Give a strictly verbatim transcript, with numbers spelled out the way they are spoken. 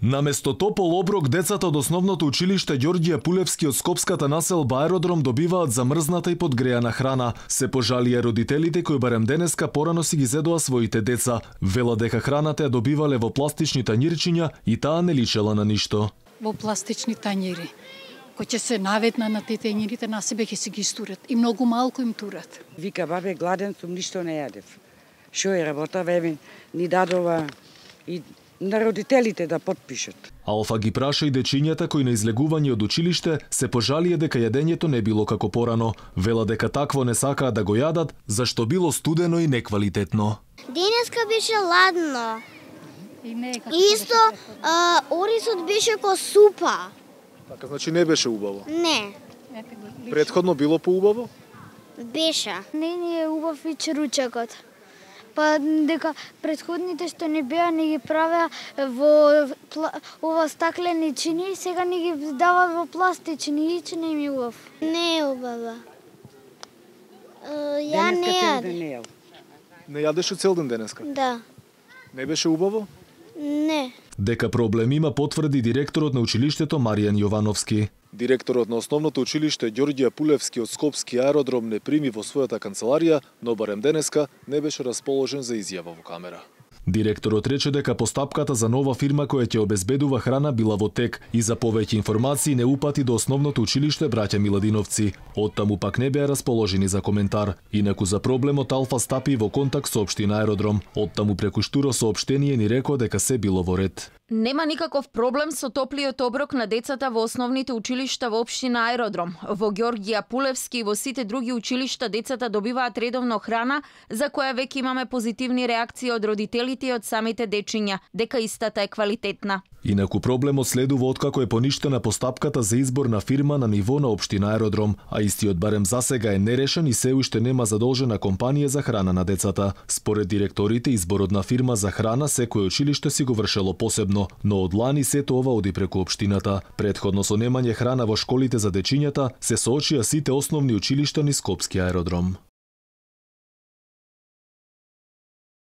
Наместо топол оброк, децата од основното училиште Ѓорѓе Апулевски од Скопската населба Аеродром добиваат замрзната и подгреана храна. Се пожалија родителите кои барем денеска порано си ги зедоа своите деца. Вела дека храната ја добивале во пластични тањирчиња и таа не личела на ништо. Во пластични тањири, кои ќе се наветна на тие тањирите, на себе ќе си ги стурат и многу малку им турат. Вика, бабе, гладен сум, ништо не јадев. Шо е работа, веме, ни дадова и на родителите да подпишат. Алфа ги праша и дечињата кои на излегување од училиште се пожалија дека јадењето не било како порано. Вела дека такво не сакаат да го јадат, зашто било студено и неквалитетно. Денеска беше ладно. И не е како Исто, а, орисот беше ко супа. Така, значи не беше убаво? Не, Претходно било поубаво? беше. Не ни е убав и черучакот. Па дека претходните што не беа не ги правеа во пла... ова стаклени чини, сега ни ги дават во пластични и че не им е убав. Не е убава. Uh, ја Денеска не цел јадев. ден не јел. Не јадеше цел ден денеска? Да. Не беше убаво? Не. Дека проблем има потврди директорот на училиштето Маријан Јовановски. Директорот на основното училиште Ѓорѓе Апулевски од Скопски аеродром не прими во својата канцеларија, но барем денеска не беше расположен за изјава во камера. Директорот рече дека постапката за нова фирма која ќе обезбедува храна била во тек и за повеќе информации не упати до основното училиште браќа Миладиновци. Оттаму пак не беа расположени за коментар. Инаку за проблемот Алфа стапи во контакт со општина Аеродром. Оттаму преку штуро соопштение ни рекоа дека се било во ред. Нема никаков проблем со топлиот оброк на децата во основните училишта во општина Аеродром. Во Ѓорѓе Апулевски и во сите други училишта децата добиваат редовно храна, за која веќе имаме позитивни реакции од родителите и од самите дечиња, дека истата е квалитетна. Инаку проблемот следува откако е поништена постапката за избор на фирма на ниво на општина Аеродром, а истиот барем засега е нерешен и се уште нема задолжена компанија за храна на децата. Според директорите, изборот на фирма за храна секој училиште си го вршело посебно, но од лани сето ова оди преку општината. Претходно со немање храна во школите за дечињата се соочија сите основни училишта низ Скопски аеродром.